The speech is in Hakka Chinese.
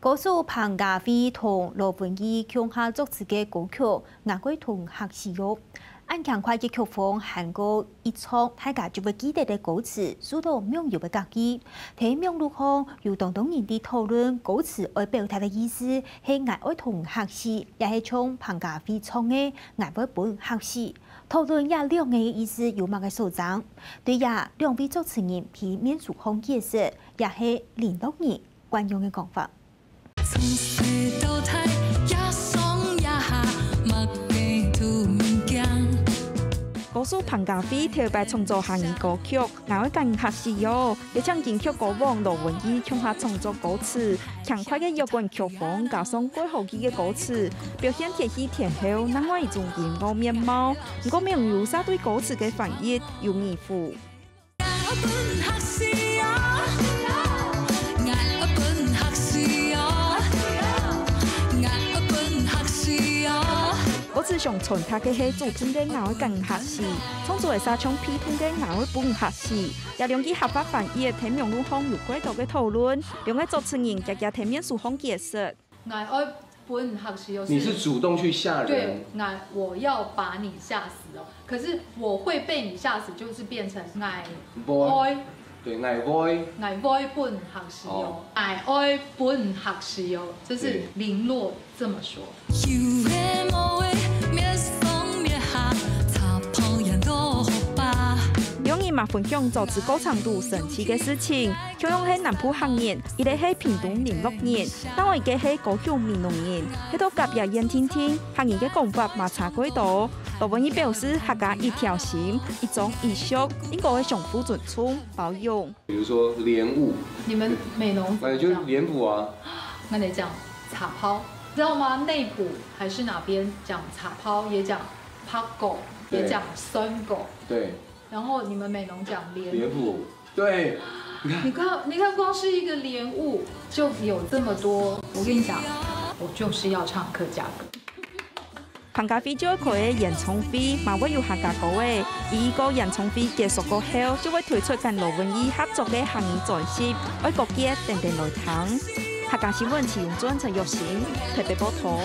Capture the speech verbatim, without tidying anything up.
歌手彭佳慧同羅文義共下作詞个歌曲《𠊎愛同你學習喲》。恁輕快个曲風，還過一唱，大家就會記得个歌詞，受到網友个合意。在網路項，有當多人在討論歌詞愛表達个意思，係𠊎愛同你學習，也係像彭佳慧唱个𠊎會分你學習。討論這兩個意思有麼个所爭？對這兩位作詞人在面書項解釋，也係聯絡人慣用个講法。 從細到大，這上這下，麼个都毋驚。歌手彭佳慧頭擺創作客語歌曲《𠊎愛同你學習喲》，係請金曲歌王羅文義共下創作歌詞，輕快个搖滾曲風，加上蓋好記个歌詞，表現天氣天候另外一種音樂面貌。毋過網友儕對歌詞个翻譯有疑問。 歌詞想傳達个係主動个𠊎愛同你學習，創作个儕像被動个𠊎愛分你學習。這兩句客話翻譯，在網路項有蓋多个討論，兩個作詞人遽遽在面書項解釋。 𠊎愛分你學習哦，你是主動去嚇人。對，𠊎，我要把你嚇死哦。可是我會被你嚇死，就是變成𠊎會，對，𠊎會。𠊎會分你學習哦，哦。𠊎愛分你學習哦，這是林洛這麼說。對。有个無个，滅上滅下，查埔也都好吧。兩人嘛分享作詞過程肚神奇个事情， 共樣係南部客人，一個係屏東麟洛人，另外一個係高雄美濃人，係到隔壁縣定定，客語个講法嘛差蓋多。羅文義表示客家一條心，一種意識，應該愛相互尊重、包容。比如說蓮霧，你們美濃怎麼講？哎，就是蓮霧啊。那你講茶泡，知道嗎？內埔還是哪邊講茶泡，也講白果，也講酸果。對。 然後你們美濃講蓮霧。蓮霧，對。你看，你看，光是一個蓮霧就有這麼多。我跟你講，我就是要唱客家歌。彭佳慧就愛開个演唱會，嘛會有客家歌仔。佢个演唱會結束過後，就會推出跟羅文義合作个客語專輯，愛歌曲等等來聽。客家新聞徐永尊、陳玉成特別報導。